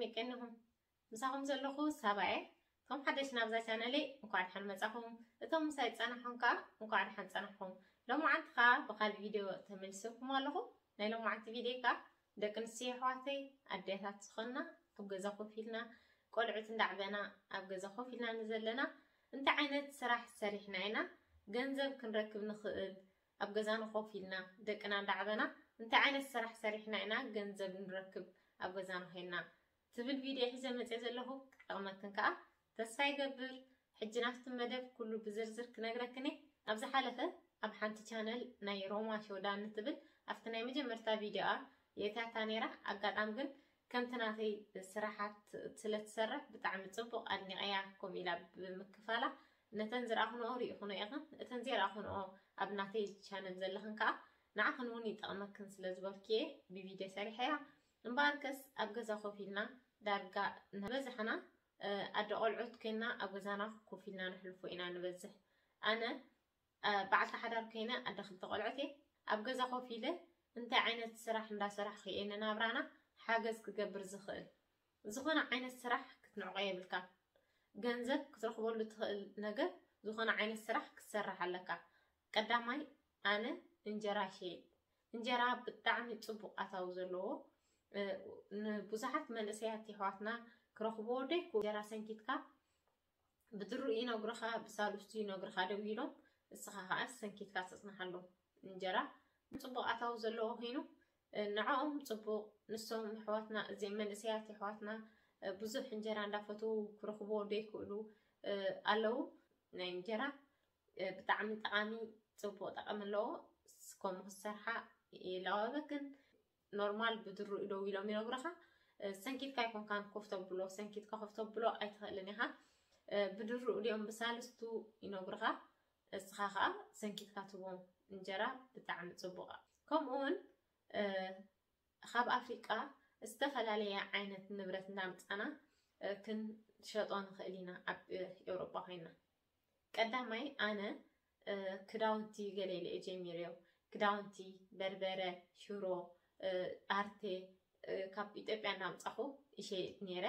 የቀንኹም። ምሳኹም ዘለኹ ሳባየ። እቶም ሓደሽ ናብዛ ቻነለይ እንኳዕ ደሓን መጻኹም። እቶም ምሳይ ጸናሕኩም ከኣ እንኳዕ ደሓን ጸናሕኩም። ሎማዓንቲ ከኣ ብኻልእ ቪድዮ ተመልሰኩም ኣለኹ። ናይ ሎማዓንቲ ቪድዮ ከኣ ደቂ ኣንስትዮ ኣሕዋተይ ኣዴታት ዝኾንና ኣብ ገዛ ኮፍ ኢልና ቆልዑት እንዳዕበና ኣብ ገዛ ኮፍ ኢልና ንዘለና እንታይ ዓይነት ስራሕ ሰሪሕና ኢና ገንዘብ ክንረክብ ንኽእል? ኣብ ገዛና ኮፍ ኢልና ደቅና እንዳዕበና እንታይ ዓይነት ስራሕ ሰሪሕና ኢና ገንዘብ ንረክብ ኣብ ገዛና ኮይና ትብል ቪድዮ ሒዘ መፅየ ዘለኹ። ክጠቕመክን ከዓ ተስፋ ይገብር። ሕጂ ናብቲ መደብ ኩሉ ብዝርዝር ክነግረክን እየ። ኣብ ዝሓለፈ ኣብ ሓንቲ ቻነል ናይ ሮማ ሾዳን ንትብል ኣብቲ ናይ መጀመርታ ቪድዮኣ የእትያታ ነይራ። ኣጋጣሚ ግን ከምቲ ናተይ ስራሓት ስለ ትሰርሕ ብጣዕሚ ፅቡቕ ኣድኒቐያ፣ ከምኡ ኢላ ብምክፋላ ነተን ዝረኣኽንኦ ርኢኽንኦ ኢኽን። እተን ዘይረኣኽንኦ ኣብ ናተይ ቻነል ዘለኽን ከዓ ንዓኽን እውን ይጠቕመክን ስለ ዝበልክየ ብቪድዮ ሰሪሐያ። እምበኣርከስ ኣብ ገዛ ኮፍ ኢልና ዳርጋ ንበዝሕና ኣደ ቆልዑት ኮይና ኣብ ገዛና ኮፍ ኢልና ነሕልፎ ኢና ንበዝሕ። ኣነ በዓልቲ ሓዳር ኮይነ ኣደ ክልተ ቆልዑት እየ። ኣብ ገዛ ኮፍ ኢለ እንታይ ዓይነት ስራሕ እንዳሰራሕኩ እየ ንናብራና ሓገዝ ክገብር ዝኽእል? ዝኾነ ዓይነት ስራሕ ክትንዕቆ የብልካ። ገንዘብ ክትረኽበሉ ትኽእል ነገር ዝኾነ ዓይነት ስራሕ ክትሰርሕ ኣለካ። ቀዳማይ ኣነ እንጀራ ሸይጥ። እንጀራ ብጣዕሚ ጽቡቕ ኣታዊ ዘለዎ፣ ንብዙሓት መንእሰያት የሕዋትና ክረኽብዎ ደይኮ እንጀራ ሰንኪትካ ብድሩ ይነግሩኻ፣ ብሳልስቱ ይነግሩኻ ደው ኢሎም፣ እስኻ ኸዓ ሰንኪትካ ትጽንሓሎም። እንጀራ ጽቡቕ ኣታዊ ዘለዎ ኮይኑ ንዕኦም ጽቡቕ፣ ንሶም ኣሕዋትና፣ እዚኦም መንእሰያት ኣሕዋትና ብዙሕ እንጀራ እንዳፈትዉ ክረኽብዎ ደይክእሉ ኣለዉ። ናይ እንጀራ ብጣዕሚ ጠቓሚ ጽቡቕ ጠቐሚ ኣለዎ። ከምኡ ክትሰርሓ ይላወበክን። ኖርማል ብድሩ ደው ኢሎም ይነግሩኻ። ሰንኪትካ ኣይኮንካን ኮፍ ተብሎ፣ ሰንኪትካ ኮፍ ተብሎ ኣይትኽእልን ኢኻ። ብድሩ ድዮም ብሳልስቱ ይነግሩኻ። እስኻ ኸዓ ሰንኪትካ ትቦም እንጀራ ብጣዕሚ ጽቡቕ። ከምኡ እውን ካብ ኣፍሪቃ ዝተፈላለየ ዓይነት ንብረት እንዳምጻና ክንሸጦ ንኽእል ኢና ኣብ ኤውሮጳ ኮይና። ቀዳማይ ኣነ ክዳውንቲ ገለ ኢለ እየ ጀሚረዮ። ክዳውንቲ፣ በርበረ፣ ሽሮ፣ ኣርቴ ካብ ኢትዮጵያ እናምጻኹ ይሸይጥ ነይረ።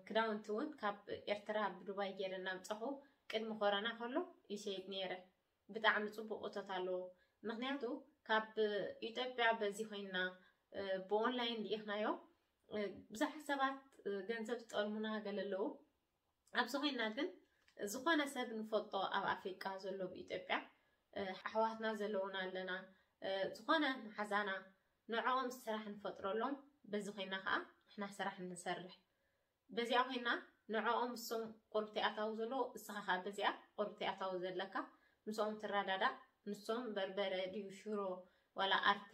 ክዳውንቲ እውን ካብ ኤርትራ ብዱባይ ገይረ እናምጻኹ ቅድሚ ኮረና ከሎ ይሸይጥ ነይረ። ብጣዕሚ ጽቡቕ እቶት ኣለዎ። ምኽንያቱ ካብ ኢትዮጵያ በዚ ኮይንና ብኦንላይን ልኢኽናዮ ብዙሓት ሰባት ገንዘብ ዝጠልሙና ገለ ኣለዉ። ኣብዚ ኮይንና ግን ዝኾነ ሰብ ንፈልጦ ኣብ ኣፍሪቃ ዘሎ ብኢትዮጵያ ኣሕዋትና ዘለዉና ኣለና፣ ዝኾነ መሓዛና ንዕኦም ስራሕ ንፈጥረሎም፣ በዚ ኮይንና ከዓ ንሕና ስራሕ ንሰርሕ። በዚኣ ኮይና ንዕኦም እሶም ቁርብቲ ኣታዊ ዘለዎ፣ እስኻ ከዓ በዚኣ ቁርብቲ ኣታዊ ዘለካ፣ ምስኦም ትረዳዳእ። ንሶም በርበረ ድዩ ሽሮ ዋላ ኣርቴ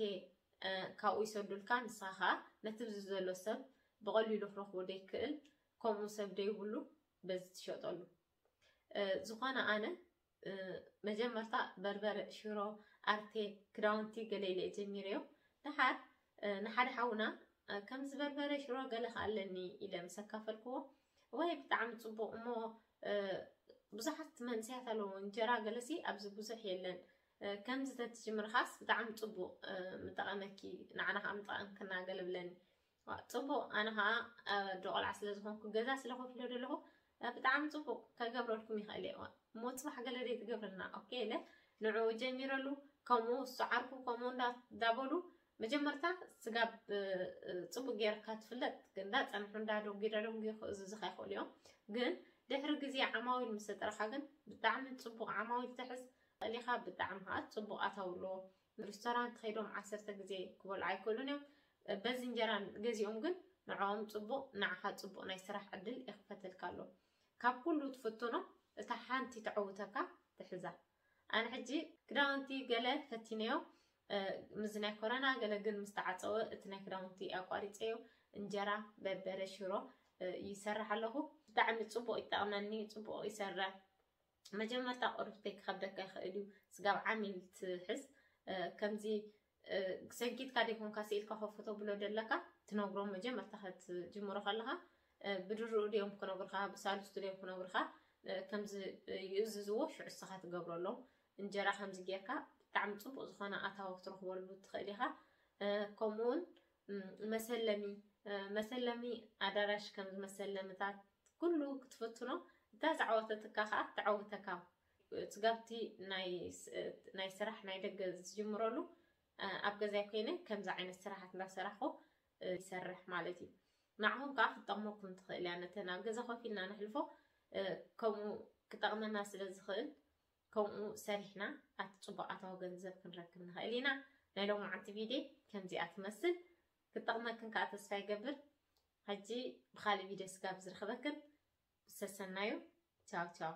ካብኡ ይሰዱልካ፣ ንስኻ ከዓ ነቲ ብዚ ዘሎ ሰብ ብቐሊሉ ክረኽቦ ደይክእል ከምኡ ሰብ ደይብሉ በዚ ትሸጠሉ። ዝኾነ ኣነ መጀመርታ በርበረ ሽሮ ኣርቴ ክዳውንቲ ገለ ኢለ ጀሚረዮ። ደሓር ንሓደ ሓውና ከምዚ በርበረ ሽሮ ገለ ከኣለኒ ኢለ ምስ ኣካፈልክዎ፣ ወይ ብጣዕሚ ጽቡቕ እሞ ብዙሓት መንስያት ኣለዎ እንጀራ ገለሲ ኣብዚ ብዙሕ የለን፣ ከምዚ ተትጅምርኻስ ብጣዕሚ ጽቡቕ ምጠቐመኪ፣ ንዓና ከዓ ምጠቐምክና ገለ ብለኒ። ጽቡቕ፣ ኣነ ከዓ ኣደ ቆልዓ ስለ ዝኾንኩ ገዛ ስለ ኮፍ ኢለ ዘለኹ ብጣዕሚ ጽቡቕ ከገብረልኩም ይኽእል እየ። እሞ ጽባሕ ገለ ደይ ትገብርልና ኦኬ ኢለ ንዕኡ ጀሚረሉ። ከምኡ እሱ ዓርኩ ከምኡ እንዳበሉ መጀመርታ ስጋብ ጽቡቕ ገይርካ ትፍለጥ እንዳጸንሑ እንዳደንጉ ደንጉ ክእዝዙኻ ይኽእሉ እዮም። ግን ድሕሪ ግዜ ዓማዊል ምስ ተጠረኻ ግን ብጣዕሚ ጽቡቕ ዓማዊል ትሕዝ። ቀሊኻ ብጣዕሚ ከዓ ጽቡቕ ኣታዊ ኣለዎ። ሪስቶራንት ከይዶም ዓሰርተ ግዜ ክበልዑ ኣይክእሉን እዮም። በዚ እንጀራ ገዚኦም ግን ንዕኦም ጽቡቕ፣ ንዓኻ ጽቡቕ ናይ ስራሕ ዕድል ይኽፈተልካ ኣሎ። ካብ ኩሉ ትፍትኖ እታ ሓንቲ ተዕውተካ ትሕዛ። ኣነ ሕጂ ክዳውንቲ ገለ ፈቲነዮ፣ ምስዚ ናይ ኮረና ገለ ግን ምስ ተዓጸወ እቲ ናይ ክዳውንቲ ኣቋሪጸዮ። እንጀራ፣ በርበረ፣ ሽሮ ይሰርሕ ኣለኹ። ብጣዕሚ ጽቡቕ ይጠቕመኒ፣ ጽቡቕ ይሰርሕ። መጀመርታ ቁርብተይ ክኸብደካ ይኽእል እዩ፣ ስጋብ ዓሚል ትሕዝ። ከምዚ ሰንኪትካ ደይኮንካ ስኢልካ ኮፍ ተብሎ ደለካ ትነግሮም። መጀመርታ ክትጅምሮ ከለኻ ብድርኡ ድዮም ክነግሩኻ፣ ብሳልስቱ ድዮም ክነግሩኻ፣ ከምዚ ይእዝዝዎ፣ ሽዑ እስኻ ትገብረሎም። እንጀራ ከምዚ ጌርካ ብጣዕሚ ጽቡቕ ዝኾነ ኣታዊ ክትረኽበሉ ትኽእል ኢኻ። ከምኡውን መሰለሚ መሰለሚ ኣዳራሽ ከም ዝመሰለምታት ኩሉ ክትፍትኖ፣ እታ ዝዓወተትካ ከዓ ትዓውተካ። ስጋብቲ ናይ ስራሕ ናይ ደገ ዝጅምረሉ ኣብ ገዛይ ኮይነ ከምዚ ዓይነት ስራሓት እንዳሰራሕኩ ይሰርሕ ማለት እዩ። ንዓኹም ከዓ ክትጠቕመኩም ትኽእል እያ። ነተን ኣብ ገዛ ኮፍ ኢልና ነሕልፎ ከምኡ ክጠቕመና ስለ ዝኽእል ከምኡ ሰሪሕና ኣቲ ፅቡቕ ኣታዊ ገንዘብ ክንረክብ ንኽእል ኢና። ናይ ሎማዓንቲ ቪድዮ ከምዚኣ ትመስል። ክጠቕመክን ከዓ ተስፋ ይገብር። ሕጂ ብካሊእ ቪድዮ ስጋብ ዝረኽበክን ሰሰናዩ። ቻው ቻው።